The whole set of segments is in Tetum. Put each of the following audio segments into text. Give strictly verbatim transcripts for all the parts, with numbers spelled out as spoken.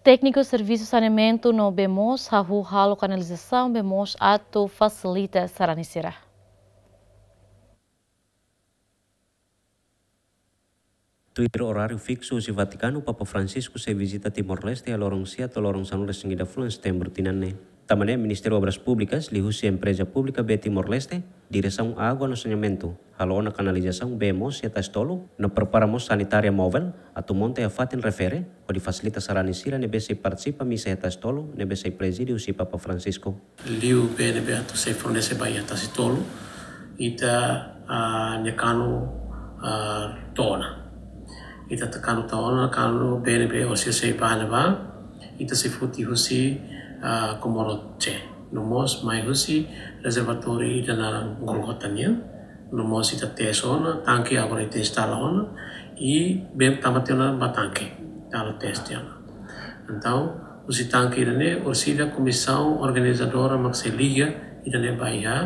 Tékniku servisu saneamentu no bee moos hahú halo kanalizasaun bee moos atu fasilita sarani sira. Tuir oráriu fiksu husi Vatikanu, Papa Francisco sei vizita Timor-Leste iha loron sia to'o loron sanulu-resin-ida fulan Setembru tinan ne'e. Tanba ne'e, Ministériu Obras Públikas liuhusi Empreza Públika Bee Timor-Leste, Diresaun Água no Saneamentu, halo ona kanalizasaun bee moos iha Tasi Tolu, no prepara mós sanitária móvel atu monta iha fatin refere, hodi fasilita sarani sira ne'ebé sei partisipa misa iha Tasi Tolu, ne'ebé sei prezide husi Papa Francisco. Liu bee ne'ebé atu sei fornese ba iha Tasi Tolu, ita, ah, nia kanu, ah, to'o ona. Ita atu kanu to'o ona, kanu bee ne'ebé orsida sei ba ne'ebá, ita sei foti husi, ah, Comoro C. No mós mai husi rezervatóriu ida naran Golgota nian. No mós ita teste ona, tanke agora ita instala ona, i bee tama tiha ona ba tanke, ita halo teste ona. Entaun, husi tanke ida-ne'e, orsida komisaun organizadora mak sei liga ida-ne'e ba iha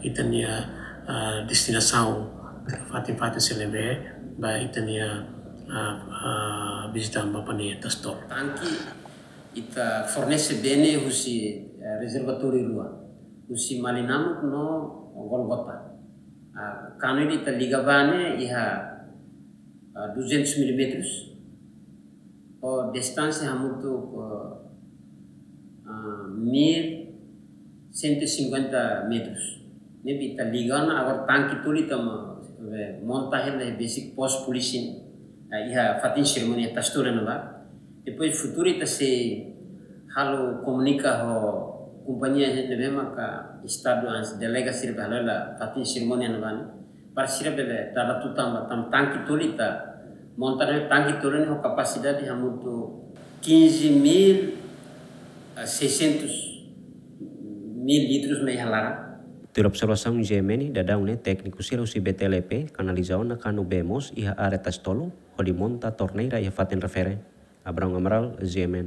ita-nia, ah, destinasaun, fatin-fatin sira ne'ebé ba ita-nia, ah, ah, vizita ba pania Tasi Tolu. Tanke ita fornese bee ne'e husi, eh, rezervatóriu rua, husi Malinamuk no Golgota. Ah, kanu ida ita liga ba ne'e iha, ah, duzentos milímetros, ho distánsia hamutuk, ah, mil cento e cinquenta metros. Ne'ebé ita liga ona, agora tanke tolu ita mo-, eh, monta hela iha besik pos polísia, eh, iha fatin serimónia Tasi Tolu ne'ebá. Depois futuru ita sei halo komunika ho kompañia ne'ebé maka estadu ansi delega sira halo hela fatin serimónia ne'ebá ne'e. Para sira bele dada tutan ba tan-, tanke tolu ita monta ne'e, tanke tolu ne'e ho kapasidade hamutuk quinze mil, eh, seiscentos mil litros mak iha laran. Tuir observasaun G M N, daudaun ne'e tékniku sira husi B T L P kanaliza ona kanu bee moos iha área Tasi Tolu, hodi monta torneira iha fatin refere. Abrão Amaral, G M N.